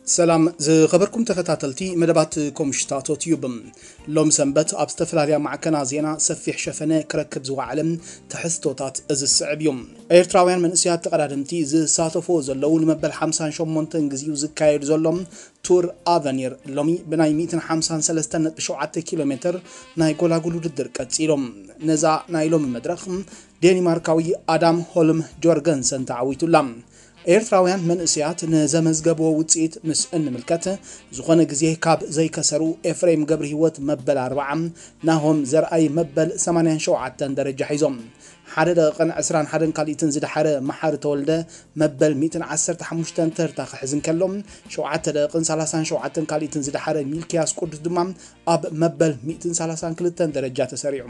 ሰላም ዝኸበርኩም ተኸታተልቲ መደባት ኮምሽታቶ ቲዩብ። ሎም ሰንበት ኣብ ዝተፈላለያ ማዕከና ዜና ሰፊሕ ሸፈነ ክረክብ ዝወዓለ ትሕዝቶታት እዚ ዝስዕብ እዩ። ኤርትራውያን መንእሰያት ተቐዳደምቲ ዝሳተፎ ዘለዉ ንመበል ሓምሳን ሸሞንተን ግዜኡ ዝካየድ ዘሎ ቱር ኣቨኒር ሎሚ ብናይ ሚእትን ሓምሳን ሰለስተን ነጥቢ ሸውዓተ ኪሎ ሜትር ናይ ጎላጉል ውድድር ቀጺሎም። ነዛ ናይ ሎሚ መድረኽ ዴኒማርካዊ ኣዳም ሆልም ጆርገንሰን ተዓዊቱላ። ኤርትራውያን መንእሰያት ንዘመዝገብዎ ውጽኢት ምስ እንምልከት፣ ዝኾነ ግዜ ካብ ዘይከሰሩ ኤፍሬም ገብረሂወት መበል ኣርብዓ፣ ናሆም ዘርኣይ መበል ሰማንያን ሸውዓተን ደረጃ ሒዞም። ሓደ ደቂቕን ዕስራን ሓደን ካልኢትን ዝደሓረ መሓሪ ተወልደ መበል ሚእትን ዓሰርተ ሓሙሽተን ተርታ ክሕዝ እንከሎ፣ ሸውዓተ ደቂቕን ሰላሳን ሸውዓተን ካልኢትን ዝደሓረ ሚልክያስ ቅዱስ ድማ ኣብ መበል ሚእትን ሰላሳን ክልተን ደረጃ ተሰሪዑ።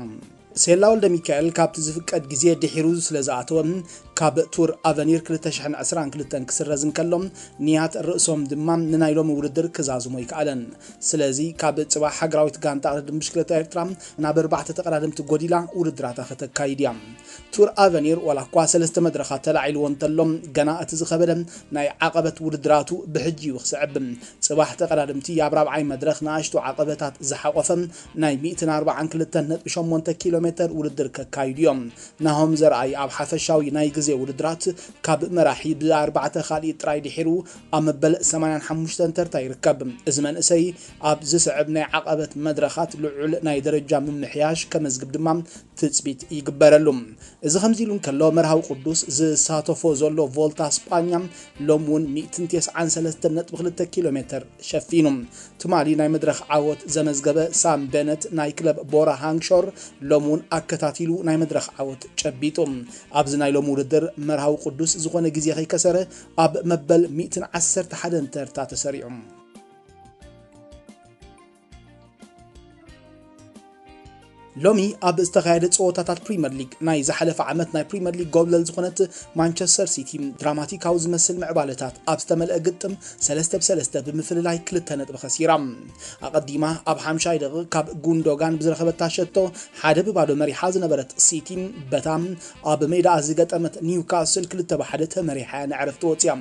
ሴላ ወልደ ሚካኤል ካብቲ ዝፍቀድ ግዜ ድሒሩ ስለ ዝኣተወ፣ ካብ ቱር ኣቨኒር ክልተ ሽሕን ዕስራን ክልተን ክስረዝ እንከሎ፣ ንያት ርእሶም ድማ ንናይ ሎሚ ውድድር ክዛዝሞ ኣይከኣለን። ስለዚ ካብ ጽባሕ ሃገራዊት ጋንታ ቅድድም ብሽክለታ ኤርትራ ናብ ኣርባዕተ ተቐዳደምቲ ጎዲላ ውድድራታ ከተካይድ እያ። ቱር ኣቨኒር ዋላ እኳ ሰለስተ መድረኻት ተላዒልዎ እንተሎ፣ ገና እቲ ዝኸበደ ናይ ዓቐበት ውድድራቱ ብሕጂ እዩ ክስዕብ። ጽባሕ ተቐዳደምቲ ኣብ ራብዓይ መድረኽ ንኣሽቱ ዓቐበታት ዝሓቖፈ ናይ ሚእትን ኣርባዓን ክልተን ነጥቢ ሸሞንተ ኪሎ ሜትር ውድድር ከካይዱ እዮም። ናሆም ዘርኣይ ኣብ ሓፈሻዊ ናይ ግዜ ውድድራት ካብ መራሒ ብኣርባዕተ ካልኢት ጥራይ ድሒሩ ኣብ መበል ሰማንያን ሓሙሽተን ተርታ ይርከብ። እዚ መንእሰይ ኣብ ዝስዕብ ናይ ዓቐበት መድረኻት ልዑል ናይ ደረጃ ምምሕያሽ ከመዝግብ ድማ ትጽቢት ይግበረሉ። እዚ ከምዚ ኢሉ እንከሎ፣ መርሃዊ ቅዱስ ዝሳተፎ ዘሎ ቮልታ ስጳኛ ሎም እውን ሚእትን ተስዓን ሰለስተን ነጥቢ ክልተ ኪሎ ሜትር ሸፊኑ። ትማሊ ናይ መድረኽ ዓወት ዘመዝገበ ሳም በነት ናይ ክለብ ቦራ ሃንግሾር ሎም እውን ኣከታቲሉ ናይ መድረኽ ዓወት ጨቢጡ። ኣብዚ ናይ ሎም ውድድር መርሃዊ ቅዱስ ዝኾነ ግዜ ከይከሰረ ኣብ መበል ሚእትን ዓሰርተ ሓደን ተርታ ተሰሪዑ። ሎሚ ኣብ ዝተኻየደ ጸወታታት ፕሪምየር ሊግ፣ ናይ ዝሓለፈ ዓመት ናይ ፕሪምየር ሊግ ጎብለል ዝኾነት ማንቸስተር ሲቲ ድራማቲካዊ ዝመስል ምዕባለታት ኣብ ዝተመልአ ግጥም ሰለስተ ብሰለስተ ብምፍልላይ ክልተ ነጥቢ ከሲራ። ኣቐዲማ ኣብ ሓምሻይ ደቂቕ ካብ ጉንዶጋን ብዝረኸበታ ሸቶ ሓደ ብባዶ መሪሓ ዝነበረት ሲቲ፣ በታ ኣብ ሜዳኣ ዝገጠመት ኒውካስል ክልተ ብሓደ ተመሪሓ እያ ንዕረፍቲ ወጽያ።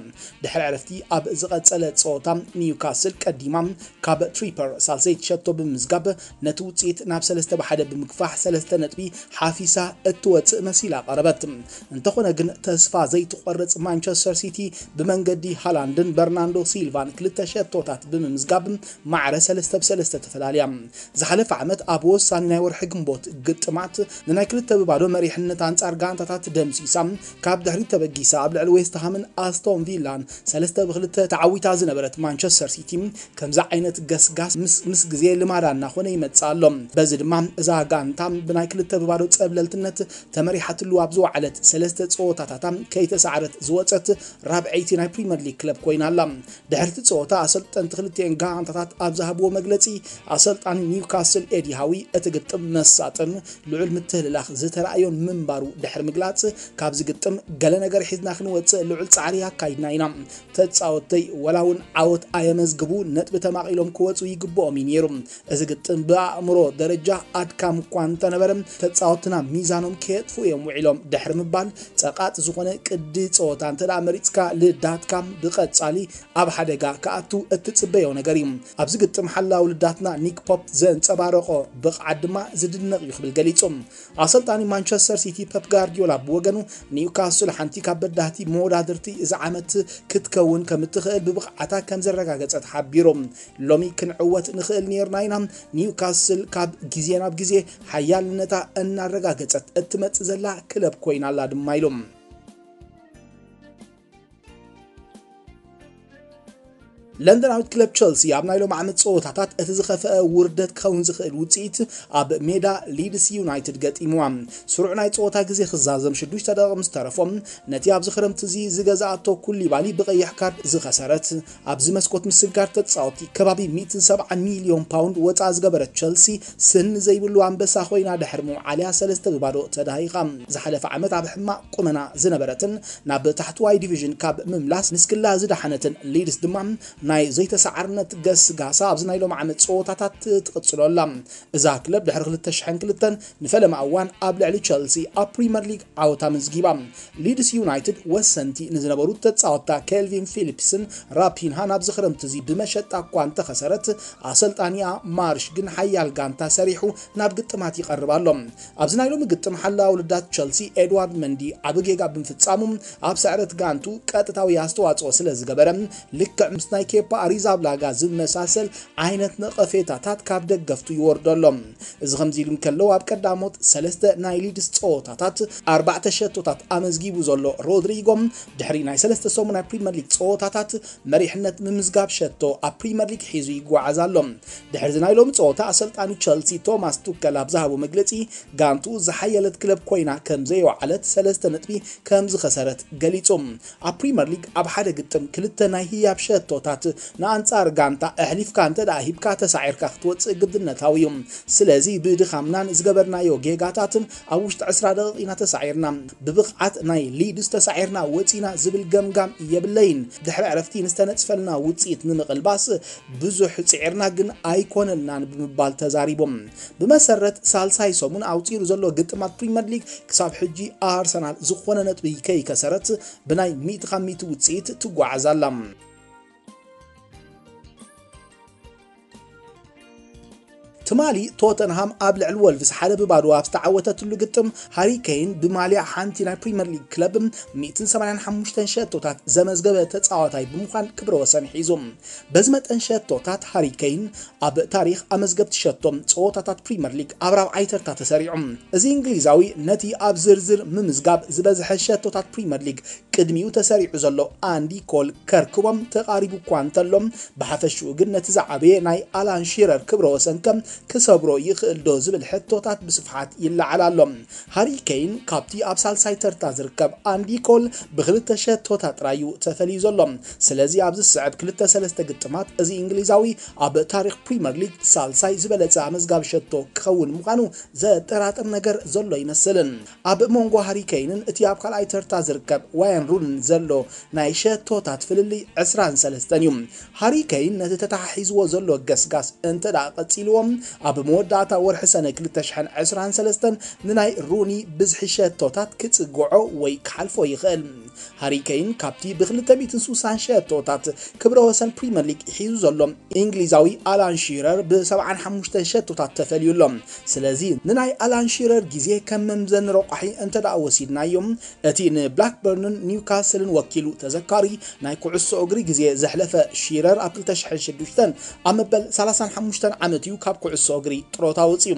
ድሕሪ ዕረፍቲ ኣብ ዝቐጸለ ጸወታ ኒውካስል ቀዲማ ካብ ትሪፐር ሳልሰይቲ ሸቶ ብምምዝጋብ ነቲ ውጽኢት ናብ ሰለስተ ብሓደ ብምግፋሕ ሰለስተ ነጥቢ ሓፊሳ እትወጽእ መሲላ ቀረበት። እንተኾነ ግን ተስፋ ዘይትቖርጽ ማንቸስተር ሲቲ ብመንገዲ ሃላንድን በርናንዶ ሲልቫን ክልተ ሸቶታት ብምምዝጋብ ማዕረ ሰለስተ ብሰለስተ ተፈላልያ። ዝሓለፈ ዓመት ኣብ ወሳኒ ናይ ወርሒ ግንቦት ግጥማት ንናይ ክልተ ብባዶ መሪሕነት ኣንጻር ጋንታታት ደምሲሳ፣ ካብ ድሕሪት ተበጊሳ ኣብ ልዕሊ ዌስትሃምን ኣስቶን ቪላን ሰለስተ ብክልተ ተዓዊታ ዝነበረት ማንቸስተር ሲቲ፣ ከምዚ ዓይነት ገስጋስ ምስ፣ ምስ ግዜ ልማዳ እናኾነ ይመጽእ ኣሎ። በዚ ድማ እዛ ጋንታ ብናይ ክልተ ብባዶ ጸብለልትነት ተመሪሓትሉ ኣብ ዝወዓለት ሰለስተ ጸወታታታ ከይተሳዕረት ዝወጸት ራብዐይቲ ናይ ፕሪምየር ሊግ ክለብ ኮይና ኣላ። ድሕሪ እቲ ጸወታ ኣሰልጠንቲ ክልቲኤን ጋንታታት ኣብ ዝሃብዎ መግለጺ፣ ኣሰልጣኒ ኒውካስል ኤዲ ሃዊ እቲ ግጥም መሳጥን ልዑል ምትህልላኽ ዝተራእዮን ምንባሩ ድሕሪ ምግላጽ፣ ካብዚ ግጥም ገለ ነገር ሒዝና ክንወጽእ ልዑል ጻዕሪ ኣካይድና ኢና። ተጻወትተይ ወላ እውን ዓወት ኣየመዝግቡ፣ ነጥቢ ተማቒሎም ክወጹ ይግብኦም እዩ ነይሩ። እዚ ግጥም ብኣእምሮ ደረጃ ኣድካሚ እኳ እንተነበረ፣ ተጻወትና ሚዛኖም ከየጥፍኡ እዮም ውዒሎም ድሕሪ ምባል፣ ጸቓጢ ዝኾነ ቅዲ ጸወታ እንተ ደኣ መሪጽካ፣ ልዳትካ ብቐጻሊ ኣብ ሓደጋ ክኣቱ እትጽበዮ ነገር እዩ። ኣብዚ ግጥም ሓላው ልዳትና ኒክ ፖፕ ዘንጸባረቖ ብቕዓት ድማ ዝድነቕ እዩ ክብል ገሊጹ። ኣሰልጣኒ ማንቸስተር ሲቲ ፐፕ ጋርዲዮላ ብወገኑ፣ ኒውካስል ሓንቲ ካብ በዳህቲ መወዳድርቲ እዚ ዓመት ክትከውን ከም እትኽእል ብብቕዓታ ከም ዘረጋገጸት ሓቢሩ። ሎሚ ክንዕወት ንኽእል ነይርና ኢና። ኒውካስል ካብ ግዜ ናብ ግዜ ሓያልነታ እናረጋገጸት እትመጽእ ዘላ ክለብ ኮይና ኣላ ድማ ኢሉ። ለንደናዊት ክለብ ቸልሲ ኣብ ናይ ሎም ዓመት ጸወታታት እቲ ዝኸፍአ ውርደት ክኸውን ዝኽእል ውጽኢት ኣብ ሜዳ ሊድስ ዩናይትድ ገጢምዋ። ስሩዕ ናይ ጸወታ ግዜ ክዛዘም ሽዱሽተ ደቂቕ ምስ ተረፎ፣ ነቲ ኣብዚ ክረምቲ እዚ ዝገዝኣቶ ኩሊባሊ ብቐይሕ ካርድ ዝኸሰረት፣ ኣብዚ መስኮት ምስጋር ተጻወቲ ከባቢ ሚእትን ሰብዓን ሚልዮን ፓውንድ ወጻ ዝገበረት ቸልሲ፣ ስኒ ዘይብሉ ኣንበሳ ኮይና ድሕሪ ምውዓልያ ሰለስተ ብባዶ ተዳሂኻ። ዝሓለፈ ዓመት ኣብ ሕማቕ ቁመና ዝነበረትን ናብ ታሕተዋይ ዲቪዥን ካብ ምምላስ ንስክላ ዝደሓነትን ሊድስ ድማ ናይ ዘይተሰዓርነት ገስጋሳ ኣብዚ ናይ ሎሚ ዓመት ጸወታታት ትቕጽሎ ኣላ። እዛ ክለብ ድሕሪ ክልተ ሽሕን ክልተን ንፈለማ እዋን ኣብ ልዕሊ ቸልሲ ኣብ ፕሪመር ሊግ ዓወት ኣመዝጊባ። ሊድስ ዩናይትድ ወሰንቲ ንዝነበሩ ተጻወትታ ኬልቪን ፊሊፕስን ራፒንሃ ናብዚ ክረምቲ እዚ ብመሸጣ እኳ እንተኸሰረት፣ ኣሰልጣኒኣ ማርሽ ግን ሓያል ጋንታ ሰሪሑ ናብ ግጥማት ይቐርብ ኣሎ። ኣብዚ ናይ ሎሚ ግጥም ሓላዊ ውልዳት ቸልሲ ኤድዋርድ መንዲ ዓቢ ጌጋ ብምፍጻሙ ኣብ ስዕረት ጋንቱ ቀጥታዊ ኣስተዋጽኦ ስለ ዝገበረ፣ ልክዕ ምስ ናይ ኬፓ ኣሪዛብላጋ ዝመሳሰል ዓይነት ነቐፌታታት ካብ ደገፍቱ ይወርዶ ኣሎ። እዚ ከምዚ ኢሉ እንከሎ፣ ኣብ ቀዳሞት ሰለስተ ናይ ሊድስ ጸወታታት ኣርባዕተ ሸቶታት ኣመዝጊቡ ዘሎ ሮድሪጎ፣ ድሕሪ ናይ ሰለስተ ሰሙን ናይ ፕሪመር ሊግ ጸወታታት መሪሕነት ምምዝጋብ ሸቶ ኣብ ፕሪመር ሊግ ሒዙ ይጓዓዝ ኣሎ። ድሕሪ እዚ ናይ ሎሚ ጸወታ፣ ኣሰልጣኒ ቸልሲ ቶማስ ቱከል ኣብ ዝሃቦ መግለጺ፣ ጋንቱ ዝሓየለት ክለብ ኮይና ከም ዘይወዓለት፣ ሰለስተ ነጥቢ ከም ዝኸሰረት ገሊጹ። ኣብ ፕሪመር ሊግ ኣብ ሓደ ግጥም ክልተ ናይ ህያብ ሸቶታት ንኣንጻር ጋንታ ኣሕሊፍካ እንተ ደኣ ሂብካ፣ ተሳዒርካ ክትወጽእ ግድነታዊ እዩ። ስለዚ ብድኻምናን ዝገበርናዮ ጌጋታትን ኣብ ውሽጢ ዕስራ ደቂቕ ኢና ተሳዒርና። ብብቕዓት ናይ ሊድስ ተሳዒርና ወጺና ዝብል ገምጋም የብለይን። ድሕሪ ዕረፍቲ ንዝተነጽፈልና ውጽኢት ንምቕልባስ ብዙሕ ጽዒርና ግን ኣይኮነልናን ብምባል ተዛሪቦም። ብመሰረት ሳልሳይ ሰሙን ኣውጺሩ ዘሎ ግጥማት ፕሪመር ሊግ ክሳብ ሕጂ ኣርሰናል ዝኾነ ነጥቢ ከይከሰረት ብናይ ሚእቲ ካብ ሚእቲ ውጽኢት ትጓዓዝ ኣላ። ትማሊ ቶተንሃም ኣብ ልዕሊ ወልቭስ ሓደ ብባዶ ኣብ ዝተዓወተትሉ ግጥም ሃሪ ኬን ብማልያ ሓንቲ ናይ ፕሪመር ሊግ ክለብ ሚእትን ሰማንያን ሓሙሽተን ሸቶታት ዘመዝገበ ተጻዋታይ ብምዃን ክብረ ወሰን ሒዙ። በዚ መጠን ሸቶታት ሃሪ ኬን ኣብ ታሪኽ ኣመዝገብቲ ሸቶ ጸወታታት ፕሪመር ሊግ ኣብ ራብዓይ ተርታ ተሰሪዑ። እዚ እንግሊዛዊ ነቲ ኣብ ዝርዝር ምምዝጋብ ዝበዝሐ ሸቶታት ፕሪመር ሊግ ቅድሚኡ ተሰሪዑ ዘሎ ኣንዲ ኮል ከርክቦም ተቓሪቡ እኳ እንተሎ፣ ብሓፈሽኡ ግን ነቲ ዝዓበየ ናይ ኣላን ሺረር ክብረ ወሰን ከ ክሰብሮ ይኽእል ዶ ዝብል ሕቶታት ብስፍሓት ይለዓል ኣሎ። ሃሪ ኬን ካብቲ ኣብ ሳልሳይ ተርታ ዝርከብ ኣንዲ ኮል ብክልተ ሸቶታት ጥራይ እዩ ተፈልዩ ዘሎ። ስለዚ ኣብዚ ዝስዕብ ክልተ ሰለስተ ግጥማት እዚ እንግሊዛዊ ኣብ ታሪኽ ፕሪመር ሊግ ሳልሳይ ዝበለጸ ኣመዝጋቢ ሸቶ ክኸውን ምዃኑ ዘጠራጥር ነገር ዘሎ ኣይመስልን። ኣብ መንጎ ሃሪ ኬንን እቲ ኣብ ካልኣይ ተርታ ዝርከብ ዋየን ሩንን ዘሎ ናይ ሸቶታት ፍልልይ ዕስራን ሰለስተን እዩ። ሃሪ ኬን ነቲ ተተሓሒዝዎ ዘሎ ገስጋስ እንተ ደኣ ቀጺልዎ፣ ኣብ መወዳእታ ወርሒ ሰነ ክልተ ሽሕን ዕስራን ሰለስተን ንናይ ሩኒ ብዝሒ ሸቶታት ክጽግዖ ወይ ክሓልፎ ይኽእል። ሃሪ ኬን ካብቲ ብ ክልተ ሚእትን ስሳን ሸቶታት ክብረ ወሰን ፕሪመር ሊግ ሒዙ ዘሎ እንግሊዛዊ ኣላን ሺረር ብ ሰብዓን ሓሙሽተን ሸቶታት ተፈልዩ ኣሎ። ስለዚ ንናይ ኣላን ሺረር ግዜ ከም መምዘኒ ረቋሒ እንተ ደኣ ወሲድናዮ፣ እቲ ንብላክበርንን ኒውካስልን ወኪሉ ተዘካሪ ናይ ኩዕሶ እግሪ ግዜ ዘሕለፈ ሺረር ኣብ ክልተ ሽሕን ሽዱሽተን ኣብ መበል ሰላሳን ሓሙሽተን ዓመት እዩ ካብ ኩዕሶ እግሪ ጥሮታ ወጺኡ።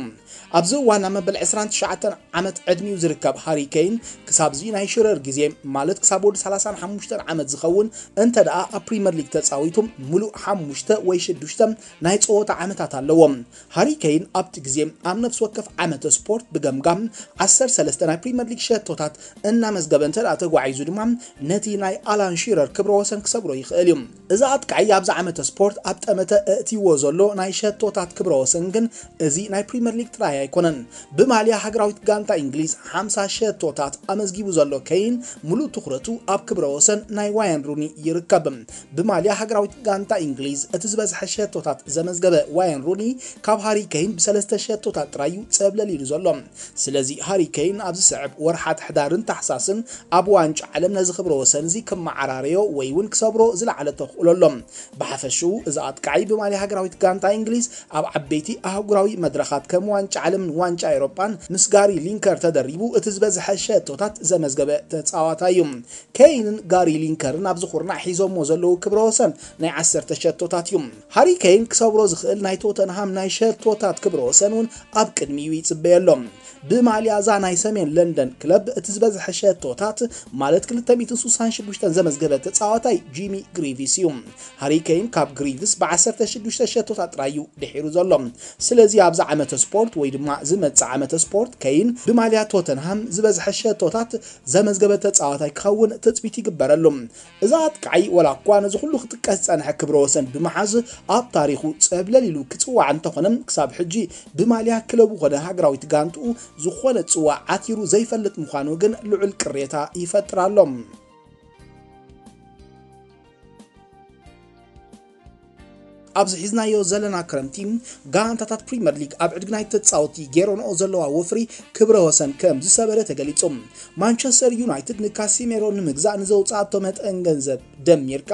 ኣብዚ እዋን ኣብ መበል ዕስራን ትሽዓተን ዓመት ዕድሚኡ ዝርከብ ሃሪ ኬን፣ ክሳብዚ ናይ ሽረር ግዜ፣ ማለት ክሳብ ወዲ ሰላሳን ሓሙሽተን ዓመት ዝኸውን እንተ ደኣ ኣብ ፕሪመር ሊግ ተጻዊቱ፣ ምሉእ ሓሙሽተ ወይ ሽዱሽተ ናይ ጸወታ ዓመታት ኣለዎ። ሃሪ ኬን ኣብቲ ግዜ ኣብ ነፍሲ ወከፍ ዓመተ ስፖርት ብገምጋም ዓሰርተ ሰለስተ ናይ ፕሪመር ሊግ ሸቶታት እናመዝገበ እንተ ደኣ ተጓዒዙ ድማ፣ ነቲ ናይ ኣላን ሺረር ክብረ ወሰን ክሰብሮ ይኽእል እዩ። እዚ ኣጥቃዒ ኣብዚ ዓመተ ስፖርት ኣብ ጠመተ እእትይዎ ዘሎ ናይ ሸቶታት ክብረ ወሰን ግን፣ እዚ ናይ ፕሪመር ሊግ ጥራይ ኣይኮነን። ብማልያ ሃገራዊት ጋንታ እንግሊዝ ሓምሳ ሸቶታት ኣመዝጊቡ ዘሎ ኬን፣ ሙሉእ ትኹረቱ ኣብ ክብረ ወሰን ናይ ዋየን ሩኒ ይርከብ። ብማልያ ሃገራዊት ጋንታ እንግሊዝ እቲ ዝበዝሐ ሸቶታት ዘመዝገበ ዋየን ሩኒ፣ ካብ ሃሪ ኬን ብሰለስተ ሸቶታት ጥራይ እዩ ጸብለል ኢሉ ዘሎ። ስለዚ ሃሪ ኬን ኣብ ዝስዕብ ወርሓት ሕዳርን ታሕሳስን ኣብ ዋንጫ ዓለም ነዚ ክብረ ወሰን እዚ ክመዓራረዮ ወይ እውን ክሰብሮ ዝለዓለ ተኽእሎ ኣሎ። ብሓፈሽኡ እዚ ኣጥቃዒ ብማልያ ሃገራዊት ጋንታ እንግሊዝ ኣብ ዓበይቲ ኣህጉራዊ መድረኻት ከም ዋንጫ ዓለምን ዋንጫ ኤውሮጳን ምስ ጋሪ ሊንከር ተደሪቡ እቲ ዝበዝሐ ሸቶታት ዘመዝገበ ተጻዋታይ እዩ። ኬይንን ጋሪ ሊንከርን ኣብዚ ኩርናዕ ሒዞሞ ዘለዉ ክብረ ወሰን ናይ ዓሰርተ ሸቶታት እዩ። ሃሪ ኬይን ክሰብሮ ዝኽእል ናይ ቶተንሃም ናይ ሸቶታት ክብረ ወሰን እውን ኣብ ቅድሚኡ ይጽበየሎም። ብማልያ እዛ ናይ ሰሜን ለንደን ክለብ እቲ ዝበዝሐ ሸቶታት፣ ማለት ክልተ ሚእትን ስሳን ሽዱሽተን ዘመዝገበ ተጻዋታይ ጂሚ ግሪቪስ እዩ። ሃሪ ኬይን ካብ ግሪቪስ ብ ዓሰርተ ሽዱሽተ ሸቶታት ጥራይ እዩ ድሒሩ ዘሎ። ስለዚ ኣብዚ ዓመተ ስፖርት ወይ ድማ ዝመጽእ ዓመተ ስፖርት፣ ኬይን ብማልያ ቶተንሃም ዝበዝሐ ሸቶታት ዘመዝገበ ተጻዋታይ ክኸውን ትጽቢት ይግበረሉ። እዚ ኣጥቃዒ፣ ወላ እኳ ነዚ ኩሉ ክጥቀስ ዝጸንሐ ክብረ ወሰን ብምሓዝ ኣብ ታሪኹ ጸብለል ኢሉ ክጽዋዕ እንተኾነ፣ ክሳብ ሕጂ ብማልያ ክለቡ ኮነ ሃገራዊት ጋንትኡ ዝኾነ ጽዋዕ ዓቲሩ ዘይፈልጥ ምዃኑ ግን ልዑል ቅሬታ ይፈጥር ኣሎ። ኣብዚ ሒዝናዮ ዘለና ክረምቲ፣ ጋንታታት ፕሪምየር ሊግ ኣብ ዕድጊ ናይ ተጻወቲ ገይረንኦ ዘለዋ ወፍሪ ክብረ ወሰን ከም ዝሰበረ ተገሊጹ። ማንቸስተር ዩናይትድ ንካሲሜሮ ንምግዛእ ንዘውጻእቶ መጠን ገንዘብ ደሚርካ፣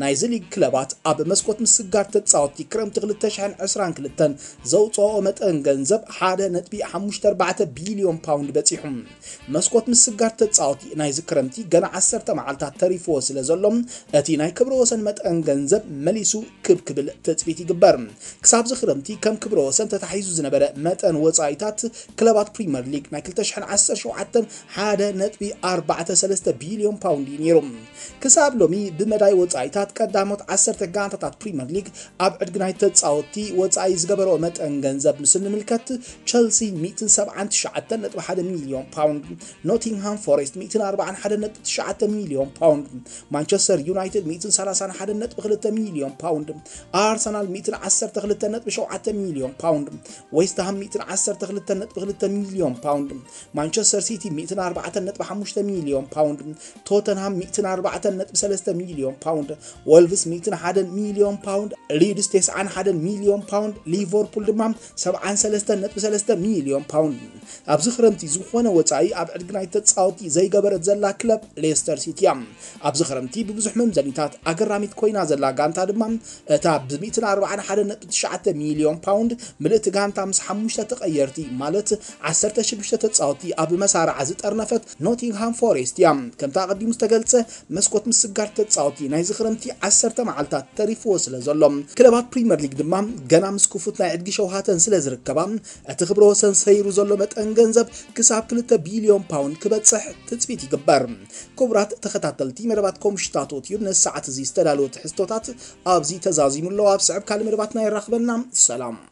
ናይዚ ሊግ ክለባት ኣብ መስኮት ምስጋር ተጻወቲ ክረምቲ ክልተ ሽሕን ዕስራን ክልተን ዘውጽኦ መጠን ገንዘብ ሓደ ነጥቢ ሓሙሽተ ኣርባዕተ ቢልዮን ፓውንድ በጺሑ። መስኮት ምስጋር ተጻወቲ ናይዚ ክረምቲ ገና ዓሰርተ መዓልታት ተሪፍዎ ስለ ዘሎ፣ እቲ ናይ ክብረ ወሰን መጠን ገንዘብ መሊሱ ክብ ክብል ትጽቢት ይግበር። ክሳብ እዚ ክረምቲ ከም ክብረ ወሰን ተታሒዙ ዝነበረ መጠን ወጻኢታት ክለባት ፕሪምየር ሊግ ናይ ክልተ ሽሕን ዓሰርተ ሸውዓተን ሓደ ነጥቢ ኣርባዕተ ሰለስተ ቢልዮን ፓውንድ እዩ ነይሩ። ክሳብ ሎሚ ብመዳይ ወጻኢታት ቀዳሞት ዓሰርተ ጋንታታት ፕሪምየር ሊግ ኣብ ዕድጊ ናይ ተጻወቲ ወጻኢ ዝገበሮ መጠን ገንዘብ ምስ እንምልከት፣ ቸልሲ ሚእትን ሰብዓን ትሽዓተን ነጥቢ ሓደ ሚልዮን ፓውንድ፣ ኖቲንግሃም ፎሬስት ሚእትን ኣርባዓን ሓደን ነጥቢ ትሽዓተ ሚልዮን ፓውንድ፣ ማንቸስተር ዩናይትድ ሚእትን ሰላሳን ሓደን ነጥቢ ክልተ ሚልዮን ፓውንድ፣ ኣርሰናል ሚእትን ዓሰርተ ክልተን ነጥቢ ሸውዓተ ሚልዮን ፓውንድ፣ ዌስትሃም ሚእትን ዓሰርተ ክልተን ነጥቢ ክልተ ሚልዮን ፓውንድ፣ ማንቸስተር ሲቲ ሚእትን ኣርባዕተን ነጥቢ ሓሙሽተ ሚልዮን ፓውንድ፣ ቶተንሃም ሚእትን ኣርባዕተን ነጥቢ ሰለስተ ሚልዮን ፓውንድ፣ ወልቭስ ሚእትን ሓደን ሚልዮን ፓውንድ፣ ሊድስ ተስዓን ሓደን ሚልዮን ፓውንድ፣ ሊቨርፑል ድማ ሰብዓን ሰለስተን ነጥቢ ሰለስተ ሚልዮን ፓውንድ። ኣብዚ ክረምቲ ዝኾነ ወጻኢ ኣብ ዕድጊ ናይ ተጻወቲ ዘይገበረት ዘላ ክለብ ሌስተር ሲቲ እያ። ኣብዚ ክረምቲ ብብዙሕ መምዘኒታት ኣገራሚት ኮይና ዘላ ጋንታ ድማ እታ ብ ሚእትን ኣርባዓን ሓደን ነጥቢ ትሽዓተ ሚልዮን ፓውንድ ምልእቲ ጋንታ ምስ ሓሙሽተ ተቐየርቲ ማለት ዓሰርተ ሽዱሽተ ተጻወቲ ኣብ መሳርዓ ዝጠርነፈት ኖቲንግሃም ፎሬስት እያ። ከምታ ኣቐዲሙ ዝተገልጸ መስኮት ምስጋር ተጻወቲ ናይዚ ክረምቲ ዓሰርተ መዓልታት ተሪፍዎ ስለ ዘሎ፣ ክለባት ፕሪምየር ሊግ ድማ ገና ምስ ክፉት ናይ ዕድጊ ሸውሃተን ስለ ዝርከባ፣ እቲ ክብረ ወሰን ሰይሩ ዘሎ መጠን ገንዘብ ክሳብ ክልተ ቢልዮን ፓውንድ ክበጽሕ ትጽቢት ይግበር። ክቡራት ተኸታተልቲ መደባት ኮምሽታቶ ቲዩብ፣ ነዚ ሰዓት እዚ ዝተዳለወ ትሕዝቶታት ኣብዚ ተዛዚሙ ኣሎ። ኣብ ስዕብ ካልእ መደባትና የራኽበና። ሰላም።